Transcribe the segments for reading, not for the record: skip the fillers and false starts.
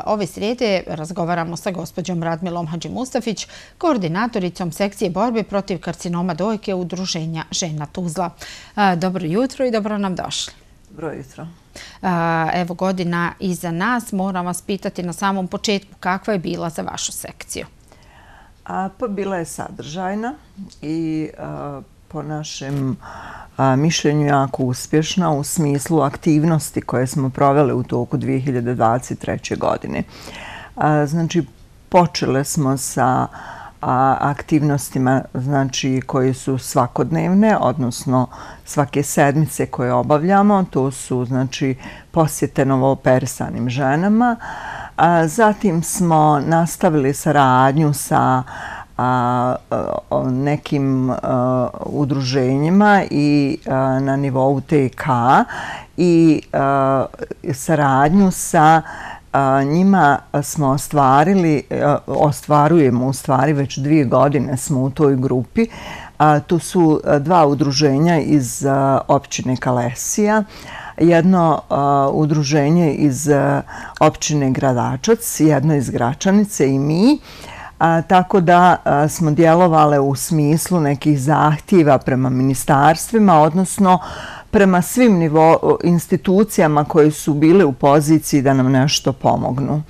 Ove srijede razgovaramo sa gospođom Radmilom Hadžimustafić, koordinatoricom sekcije borbe protiv karcinoma dojke Udruženja žena Tuzla. Dobro jutro i dobro nam došli. Dobro jutro. Evo, godina iza nas. Moram vas pitati na samom početku kakva je bila za vašu sekciju? Pa bila je sadržajna i po našem mišljenju jako uspješna u smislu aktivnosti koje smo proveli u toku 2023. godine. Znači, počele smo sa aktivnostima koje su svakodnevne, odnosno svake sedmice koje obavljamo. To su posjete novooperisanim ženama. Zatim smo nastavili saradnju sa nekim udruženjima i na nivou TK i saradnju sa njima smo ostvarujemo u stvari već 2 godine smo u toj grupi. Tu su 2 udruženja iz općine Kalesija, jedno udruženje iz općine Gradačac, jedno iz Gračanice i mi. Tako da smo djelovale u smislu nekih zahtjeva prema ministarstvima, odnosno prema svim institucijama koje su bile u poziciji da nam nešto pomognu.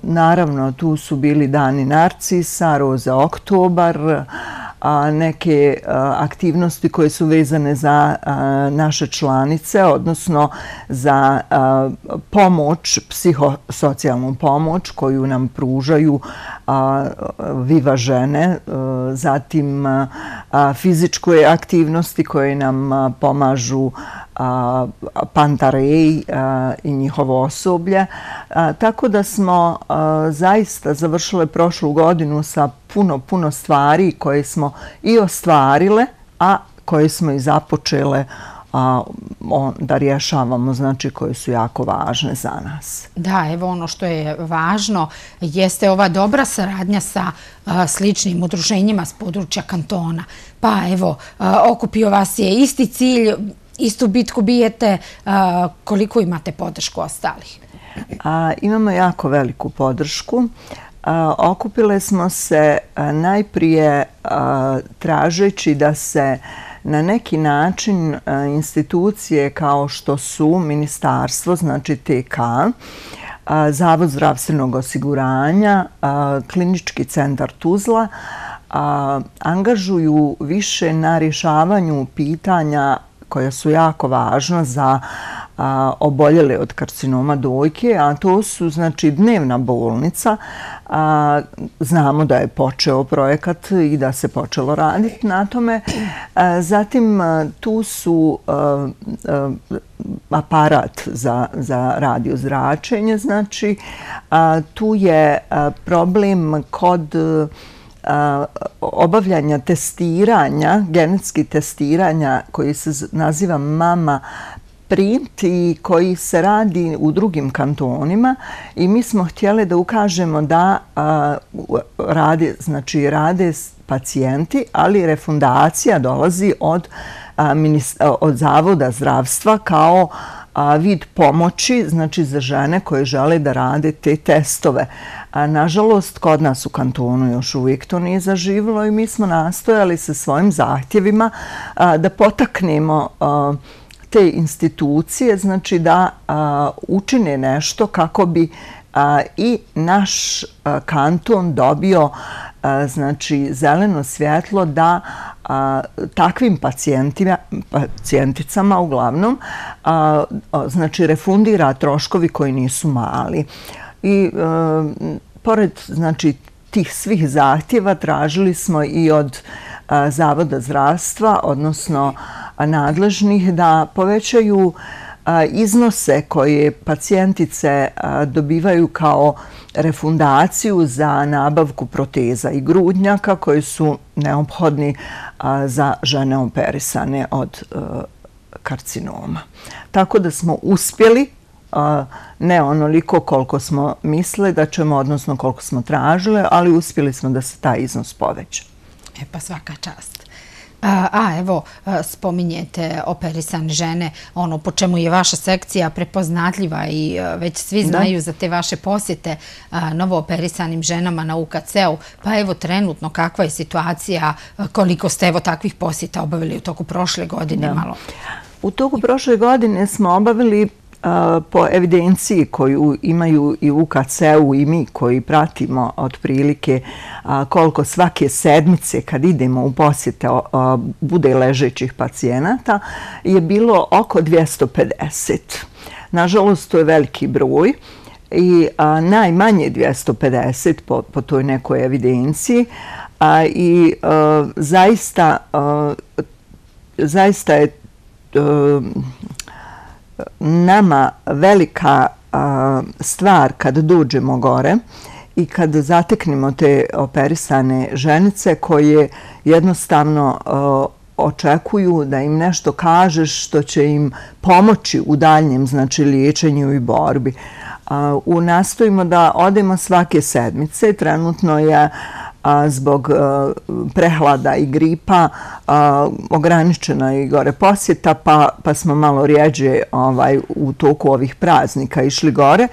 Naravno, tu su bili Dani Narcisa, Roza Oktobar, neke aktivnosti koje su vezane za naše članice, odnosno za pomoć, psihosocijalnu pomoć koju nam pružaju Viva žene, zatim fizičke aktivnosti koje nam pomažu Pantarej i njihovo osoblje. Tako da smo zaista završile prošlu godinu sa puno stvari koje smo i ostvarile, a koje smo i započele da rješavamo, koje su jako važne za nas. Da, evo ono što je važno jeste ova dobra saradnja sa sličnim udruženjima s područja kantona. Pa evo, okupio vas je isti cilj, istu bitku bijete, koliko imate podršku ostalih? Imamo jako veliku podršku. Okupile smo se najprije tražeći da se na neki način institucije kao što su ministarstvo, znači TK, Zavod zdravstvenog osiguranja, Klinički centar Tuzla, angažuju više na rješavanju pitanja koja su jako važna za oboljele od karcinoma dojke, a to su dnevna bolnica. Znamo da je počeo projekat i da se počelo raditi na tome. Zatim tu su aparat za radiozračenje. Tu je problem kod obavljanja testiranja, genetskih testiranja koji se naziva Mama Print i koji se radi u drugim kantonima i mi smo htjeli da ukažemo da rade pacijenti, ali refundacija dolazi od Zavoda zdravstva kao vid pomoći za žene koje žele da rade te testove. Nažalost, kod nas u kantonu još uvijek to nije zaživjelo i mi smo nastojali sa svojim zahtjevima da potaknemo te institucije, da učine nešto kako bi i naš kanton dobio zeleno svjetlo da takvim pacijenticama uglavnom refundira troškovi koji nisu mali. I pored tih svih zahtjeva tražili smo i od Zavoda zdravstva, odnosno nadležnih, da povećaju iznose koje pacijentice dobivaju kao refundaciju za nabavku proteza i grudnjaka koji su neophodni za žene operisane od karcinoma. Tako da smo uspjeli, ne onoliko koliko smo mislili da ćemo, odnosno koliko smo tražili, ali uspjeli smo da se taj iznos poveća. Pa svaka čast. Evo, spominjete operisane žene, ono po čemu je vaša sekcija prepoznatljiva i već svi znaju za te vaše posjete novo operisanim ženama na UKC-u. Pa evo, trenutno, kakva je situacija, koliko ste evo takvih posjeta obavili u toku prošle godine malo? U toku prošle godine smo obavili po evidenciji koju imaju i UKC-u i mi koji pratimo otprilike koliko svake sedmice kad idemo u posjete bude ležećih pacijenata je bilo oko 250. Nažalost, to je veliki broj i najmanje 250 po toj nekoj evidenciji i zaista je nama velika stvar kad dođemo gore i kad zateknemo te operisane ženice koje jednostavno očekuju da im nešto kažeš što će im pomoći u daljnjem liječenju i borbi. Nastojimo da odemo svake sedmice. Trenutno je zbog prehlada i gripa ograničena i gore posjeta, pa smo malo rijeđe u toku ovih praznika išli gore.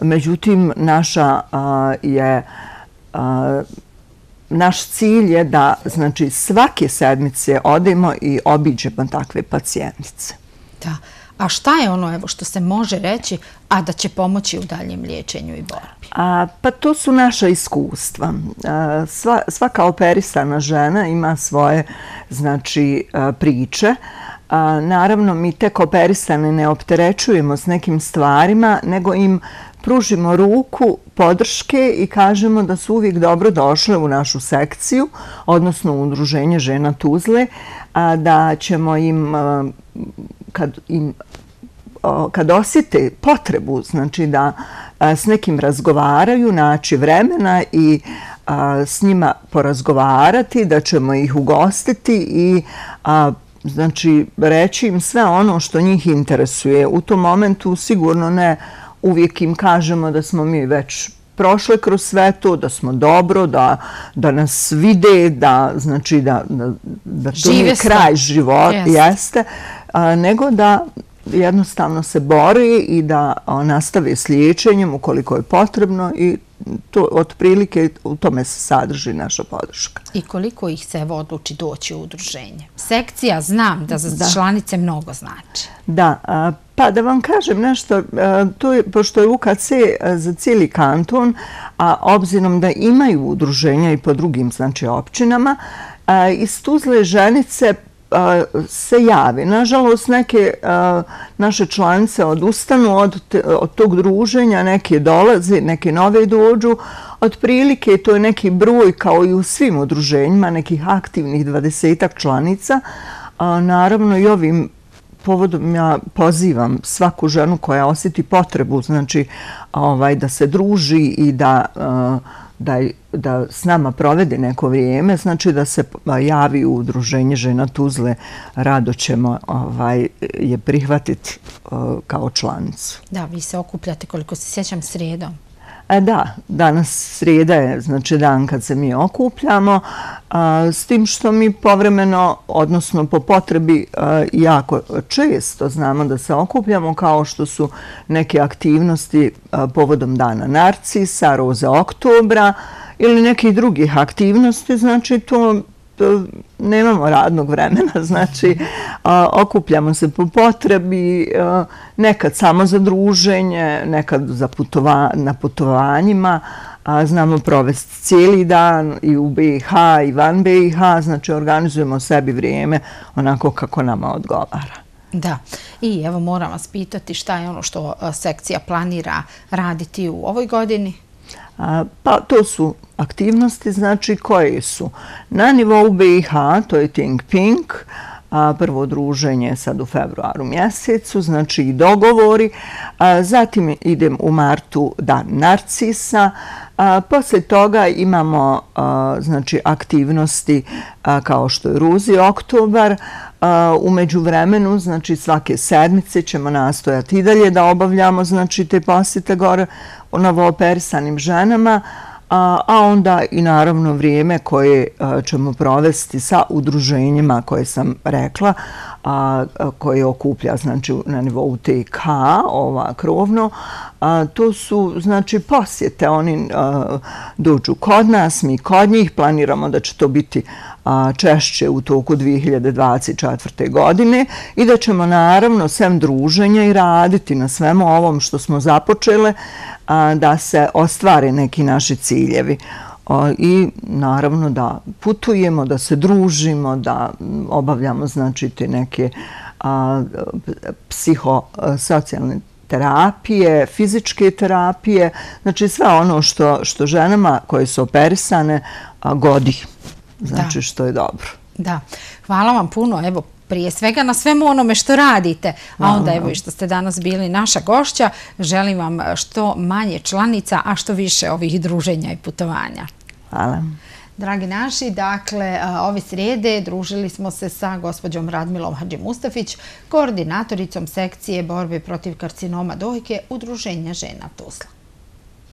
Međutim, naš cilj je da svake sedmice odemo i obiđemo takve pacijentice. Da. A šta je ono što se može reći, a da će pomoći u daljem liječenju i borbi? Pa to su naša iskustva. Svaka operisana žena ima svoje priče. Naravno, mi tek operisane ne opterećujemo s nekim stvarima, nego im pružimo ruku podrške i kažemo da su uvijek dobro došle u našu sekciju, odnosno u Udruženje žena Tuzle, da ćemo im kad osjete potrebu, da s nekim razgovaraju, naći vremena i s njima porazgovarati, da ćemo ih ugostiti i reći im sve ono što njih interesuje. U tom momentu sigurno ne uvijek im kažemo da smo mi već prošle kroz sve to, da smo dobro, da nas vide, da to nije kraj života, jeste, nego da jednostavno se bore i da nastave s liječenjem ukoliko je potrebno i to otprilike u tome se sadrži naša podrška. I koliko ih se odluči doći u udruženje? Sekcija znam da za članice mnogo znači. Da, pa da vam kažem nešto, pošto je UKC za cijeli kanton, a obzirom da imaju udruženja i po drugim općinama, iz Tuzle ženice se javi. Nažalost, neke naše članice odustanu od tog druženja, neke dolaze, neke nove dođu. Otprilike to je neki broj kao i u svim udruženjima, nekih aktivnih 20-ak članica. Naravno i ovim povodom ja pozivam svaku ženu koja osjeti potrebu da se druži i da s nama provede neko vrijeme, da se javi u Udruženje žena Tuzle, rado ćemo je prihvatiti kao članicu. Da, vi se okupljate, koliko se sjećam, srijedom. Da, danas srijeda je dan kad se mi okupljamo, s tim što mi povremeno, odnosno po potrebi, jako često znamo da se okupljamo, kao što su neke aktivnosti povodom Dana Narcisa, Roze oktobra ili nekih drugih aktivnosti, to nemamo radnog vremena, okupljamo se po potrebi, nekad samo za druženje, nekad na putovanjima, znamo provesti cijeli dan i u BiH i van BiH, organizujemo sebi vrijeme onako kako nama odgovara. Da, i evo moram vas pitati šta je ono što sekcija planira raditi u ovoj godini? Pa to su aktivnosti, koje su na nivou BiH, to je Think Pink, prvo druženje sad u februaru mjesecu, i dogovori. Zatim idem u martu Dan Narcisa. Poslije toga imamo aktivnosti kao što je Ruzi oktobar. U međuvremenu, svake sedmice ćemo nastojati i dalje da obavljamo te posjete gore u novooperisanim ženama. a onda i naravno vrijeme koje ćemo provesti sa udruženjima koje sam rekla, koje okuplja znači na nivou TK, ova krovno. To su znači posjete, oni dođu kod nas, mi kod njih, planiramo da će to biti češće u toku 2024. godine i da ćemo naravno sem druženja i raditi na svemu ovom što smo započele da se ostvare neki naši ciljevi. I naravno da putujemo, da se družimo, da obavljamo znači te neke psihosocijalne terapije, fizičke terapije, znači sve ono što ženama koje su operisane godi, znači što je dobro. Da, hvala vam puno, evo, prije svega na svemu onome što radite, a onda evo i što ste danas bili naša gošća, želim vam što manje članica, a što više ovih druženja i putovanja. Hvala. Dragi naši, dakle, ove srijede družili smo se sa gospođom Radmilom Hadžimustafić, koordinatoricom sekcije borbe protiv karcinoma dojke Udruženja žena Tuzla.